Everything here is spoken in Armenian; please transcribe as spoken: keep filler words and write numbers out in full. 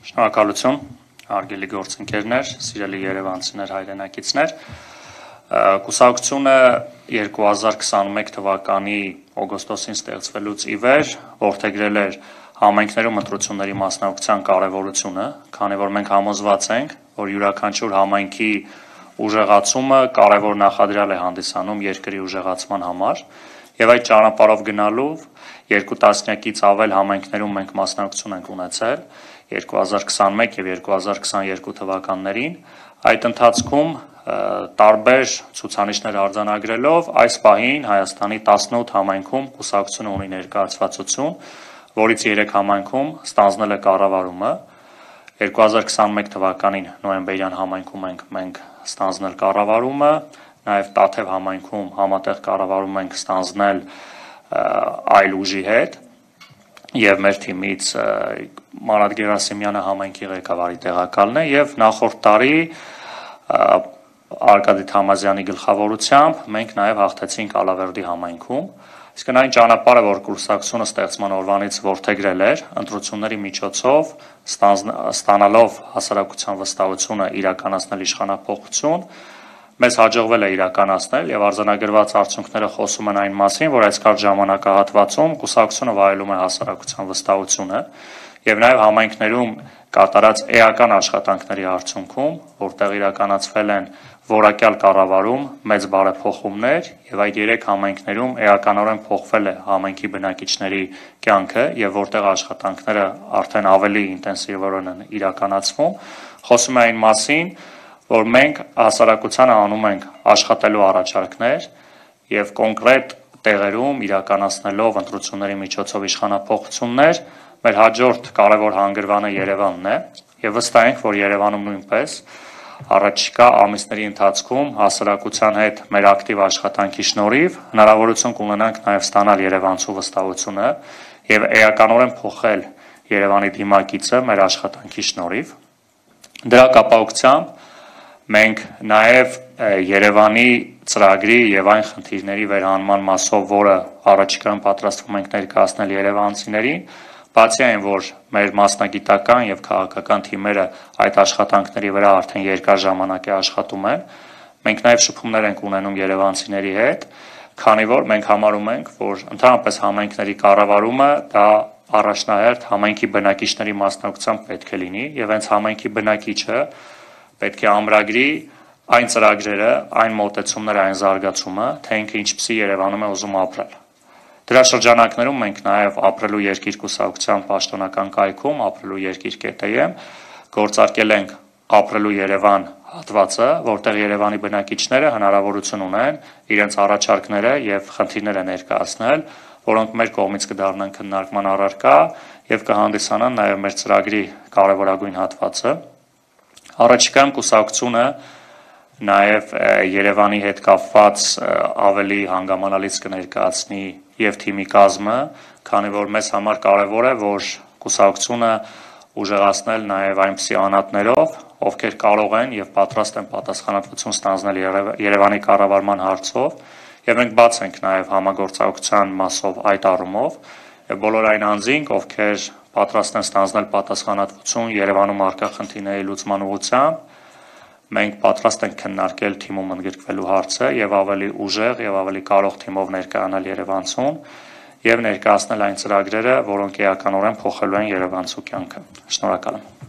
Շնորհակալություն, հարգելի գործընկերներ, սիրելի երևանցիներ, հայրենակիցներ։ Կուսակցությունը երկու հազար քսանմեկ թվականի օգոստոսին ստեղծվելուց ի վեր որդեգրել էր համայնքներում ընտրությունների մասնակցության կարևորությունը, քանի որ մենք համոզված ենք, որ յուրաքանչյուր համայնքի ուժեղացումը կարևոր նախադրյալ է հանդիսանում երկրի ուժեղացման համար, եւ այդ ճանապարհով գնալով երկու տասնյակից ավել համայնքներում մենք մասնակցություն ենք ունեցել երկու հազար քսանմեկ եւ երկու հազար քսաներկու թվականներին, այդ ընթացքում տարբեր ցուցանիշներ արձանագրելով այս պահին Հայաստանի տասնութ համայնքում կուսակցությունը ունի ներկայացվածություն, որից երեք համայնքում ստանձնել է կառավարումը, երկու հազար քսանմեկ թվականին նոյեմբերյան համայնքում ենք մենք ստանձնել կառավարումը, նաև Տաթև համայնքում համատեղ կառավարում ենք ստանձնել այլ ուժի հետ եւ մեր թիմից Մարատ Գերասիմյանը համայնքի ղեկավարի տեղակալն է եւ նախորդ տարի Արկադի Թամազյանի գլխավորությամբ մենք նաև հաղթեցինք Ալավերդի համայնքում, իսկ այն ճանապարհը, որ կուսակցությունը ստեղծման օրվանից որդեգրել էր, ընտրությունների միջոցով ստանալով հասարակության վստահությունը իրականացնել իշխանափոխություն, մեզ հաջողվել է իրականացնել եւ արձանագրված արդյունքները խոսում են այն մասին, որ այս կարճ ժամանակահատվածում կուսակցությունը վայելում է հասարակության վստահությունը եւ նաեւ համայնքներում կատարած էական աշխատանքների արդյունքում, որտեղ իրականացվել են որակյալ կառավարում, մեծ բարեփոխումներ եւ այդ երեք համայնքներում էականորեն փոխվել է համայնքի բնակիչների կյանքը եւ որտեղ աշխատանքները արդեն ավելի ինտենսիվորեն են իրականացվում, խոսում է այն մասին, որ մենք հասարակությանը անում ենք աշխատելու առաջարկներ եւ կոնկրետ տեղերում իրականացնելով ընտրությունների միջոցով իշխանափոխություններ, մեր հաջորդ կարևոր հանգրվանը Երևանն է եւ վստահ ենք, որ Երևանում նույնպես առաջիկա ամիսների ընթացքում հասարակության հետ մեր ակտիվ աշխատանքի շնորհիվ հնարավորություն կունենանք նաեւ ստանալ Երևանցու վստահությունը եւ էականորեն փոխել Երևանի դիմակիցը մեր աշխատանքի շնորհիվ։ Դրա կապակցությամբ մենք նաև Երևանի ծրագրի եւ այն խնդիրների վերահանման մասով, որը առաջիկայում պատրաստվում ենք ներկայացնել երևանցիներին, բացի այն, որ մեր մասնագիտական եւ քաղաքական թիմերը այդ աշխատանքների վրա արդեն երկար ժամանակ է աշխատում են, մենք նաև շփումներ ենք ունենում երևանցիների հետ, քանի որ մենք համարում ենք, որ ընդհանրապես համայնքների կառավարումը դա առաջնահերթ համայնքի բնակիչների մասնակցությամբ պետք է լինի եւ հենց համայնքի բնակիչը պետք է ամրագրի այն ծրագրերը, այն մոտեցումները, այն զարգացումը, թե ինքը ինչպիսի Երևանում է ուզում ապրել։ Դրա շրջանակներում մենք նաև ապրելու երկիր կուսակցության պաշտոնական կայքում, ապրելու երկիր կետեմ, գործարկել ենք ապրելու Երևան հատվածը, որտեղ Երևանի բնակիչները հնարավորություն ունեն իրենց առաջարկները եւ խնդիրները ներկայացնել, որոնք մեր կողմից կդառնան քննարկման առարկա եւ կհանդիսանան նաև մեր ծրագրի կարևորագույն հատվածը։ Առաջիկայում կուսակցությունը նաև Երևանի հետ կապված ավելի հանգամանալից կներկայացնի եւ թիմի կազմը, քանի որ մեզ համար կարեւոր է, որ կուսակցությունը ուժեղացնել նաև այնպիսի անհատներով, ովքեր կարող են եւ պատրաստ են պատասխանատվություն ստանձնել Երևանի կառավարման հարցով, եւ մենք բաց ենք նաև համագործակցության մասով այդ առումով, եւ բոլոր այն անձինք, ովքեր պատրաստ են ստանձնել պատասխանատվություն Երևանում առկա խնդիրների լուծման ուղղությամբ, մենք պատրաստ ենք քննարկել թիմում ընդգրկվելու հարցը եւ ավելի ուժեղ եւ ավելի կարող թիմով ներկայանալ Երևանցուն եւ ներկայացնել այն ծրագրերը, որոնք էականորեն փոխելու են Երևանցու կյանքը։ Շնորհակալ եմ։